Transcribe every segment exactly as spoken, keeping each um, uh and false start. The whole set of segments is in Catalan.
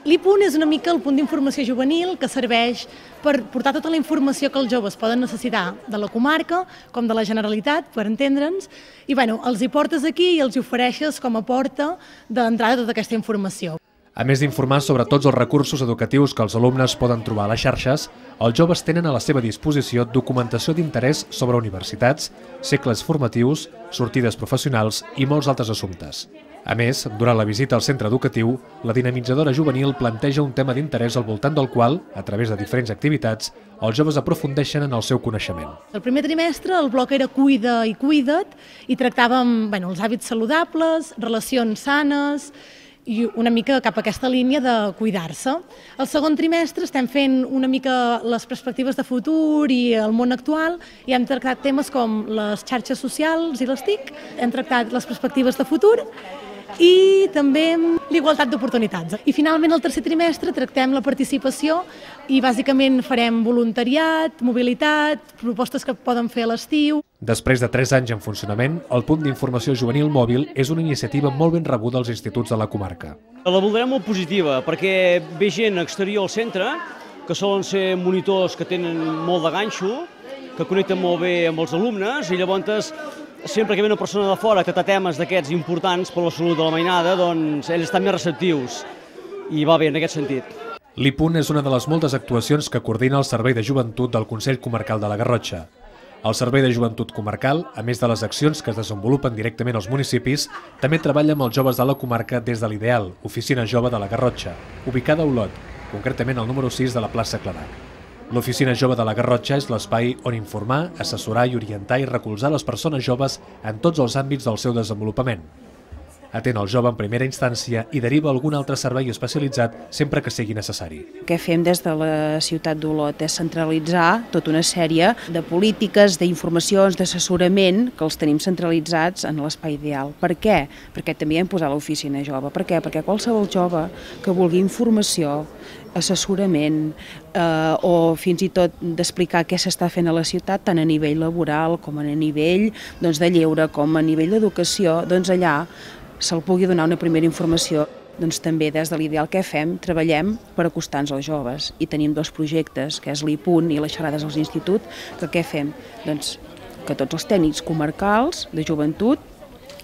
L'I P U N és una mica el punt d'informació juvenil que serveix per portar tota la informació que els joves poden necessitar de la comarca com de la Generalitat, per entendre'ns, i bueno, els hi portes aquí i els hi ofereixes com a porta d'entrada tota aquesta informació. A més d'informar sobre tots els recursos educatius que els alumnes poden trobar a les xarxes, els joves tenen a la seva disposició documentació d'interès sobre universitats, cicles formatius, sortides professionals i molts altres assumptes. A més, durant la visita al centre educatiu, la dinamitzadora juvenil planteja un tema d'interès al voltant del qual, a través de diferents activitats, els joves aprofundeixen en el seu coneixement. El primer trimestre el bloc era Cuida i Cuida't i tractàvem bueno, els hàbits saludables, relacions sanes i una mica cap a aquesta línia de cuidar-se. El segon trimestre estem fent una mica les perspectives de futur i el món actual i hem tractat temes com les xarxes socials i les T I C, hem tractat les perspectives de futur i també l'igualtat d'oportunitats. I finalment el tercer trimestre tractem la participació i bàsicament farem voluntariat, mobilitat, propostes que poden fer a l'estiu. Després de tres anys en funcionament, el punt d'informació juvenil mòbil és una iniciativa molt ben rebuda als instituts de la comarca. La voldrem molt positiva perquè ve gent exterior al centre, que solen ser monitors que tenen molt de ganxo, que connecten molt bé amb els alumnes i llavors sempre que ve una persona de fora a tractar temes d'aquests importants per la salut de la mainada, doncs ells estan més receptius i va bé en aquest sentit. L'I P U N és una de les moltes actuacions que coordina el Servei de Joventut del Consell Comarcal de la Garrotxa. El Servei de Joventut Comarcal, a més de les accions que es desenvolupen directament als municipis, també treballa amb els joves de la comarca des de l'Ideal, Oficina Jove de la Garrotxa, ubicada a Olot, concretament al número sis de la plaça Clarà. L'Oficina Jove de la Garrotxa és l'espai on informar, assessorar i orientar i recolzar les persones joves en tots els àmbits del seu desenvolupament. Atén el jove en primera instància i deriva algun altre servei especialitzat sempre que sigui necessari. El que fem des de la ciutat d'Olot és centralitzar tota una sèrie de polítiques, d'informacions, d'assessorament que els tenim centralitzats en l'espai Ideal. Per què? Perquè també hem posat l'oficina jove. Per què? Perquè qualsevol jove que vulgui informació, assessorament eh, o fins i tot d'explicar què s'està fent a la ciutat, tant a nivell laboral com a nivell doncs, de lleure, com a nivell d'educació, doncs allà se'l pugui donar una primera informació. Doncs també des de l'Ideal que fem, treballem per acostar-nos als joves i tenim dos projectes, que és l'I P U N i les xerrades als instituts, que què fem? Doncs que tots els tècnics comarcals de joventut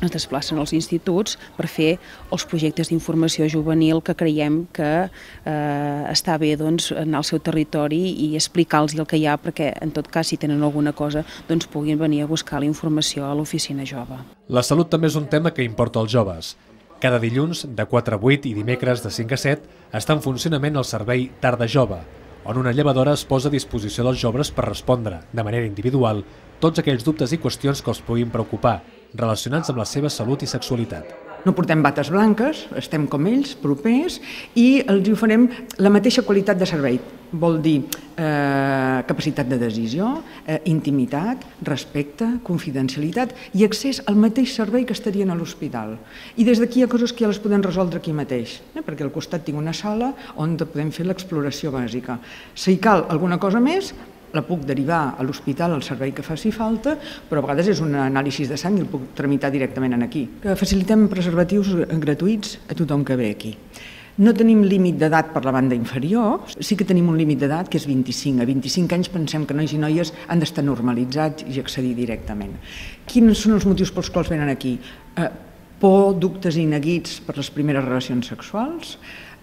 es desplacen als instituts per fer els projectes d'informació juvenil que creiem que eh, està bé doncs, anar al seu territori i explicar-los el que hi ha perquè, en tot cas, si tenen alguna cosa, doncs puguin venir a buscar la informació a l'oficina jove. La salut també és un tema que importa als joves. Cada dilluns, de quatre a vuit i dimecres de cinc a set, està en funcionament el servei Tarda Jove, on una llevadora es posa a disposició dels joves per respondre, de manera individual, tots aquells dubtes i qüestions que els puguin preocupar, relacionats amb la seva salut i sexualitat. No portem bates blanques, estem com ells, propers, i els oferim la mateixa qualitat de servei. Vol dir eh, capacitat de decisió, eh, intimitat, respecte, confidencialitat i accés al mateix servei que estarien a l'hospital. I des d'aquí hi ha coses que ja les podem resoldre aquí mateix, eh, perquè al costat tinc una sala on podem fer l'exploració bàsica. Si cal alguna cosa més, la puc derivar a l'hospital al servei que faci falta, però a vegades és un anàlisi de sang i el puc tramitar directament aquí. Facilitem preservatius gratuïts a tothom que ve aquí. No tenim límit d'edat per la banda inferior, sí que tenim un límit d'edat que és vint-i-cinc. A vint-i-cinc anys pensem que nois i noies han d'estar normalitzats i accedir directament. Quins són els motius pels quals venen aquí? Eh, por, dubtes i neguits per les primeres relacions sexuals,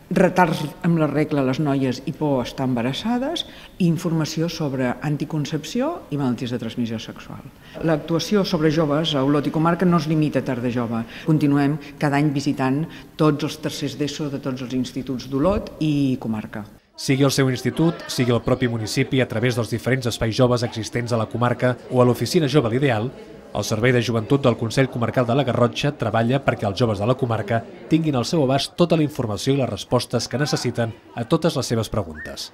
retards amb la regla a les noies i por a estar embarassades i informació sobre anticoncepció i malalties de transmissió sexual. L'actuació sobre joves a Olot i comarca no es limita a Tarda Jove. Continuem cada any visitant tots els tercers d'ESO de tots els instituts d'Olot i comarca. Sigui el seu institut, sigui el propi municipi a través dels diferents espais joves existents a la comarca o a l'Oficina Jove l'Ideal, el Servei de Joventut del Consell Comarcal de la Garrotxa treballa perquè els joves de la comarca tinguin al seu abast tota la informació i les respostes que necessiten a totes les seves preguntes.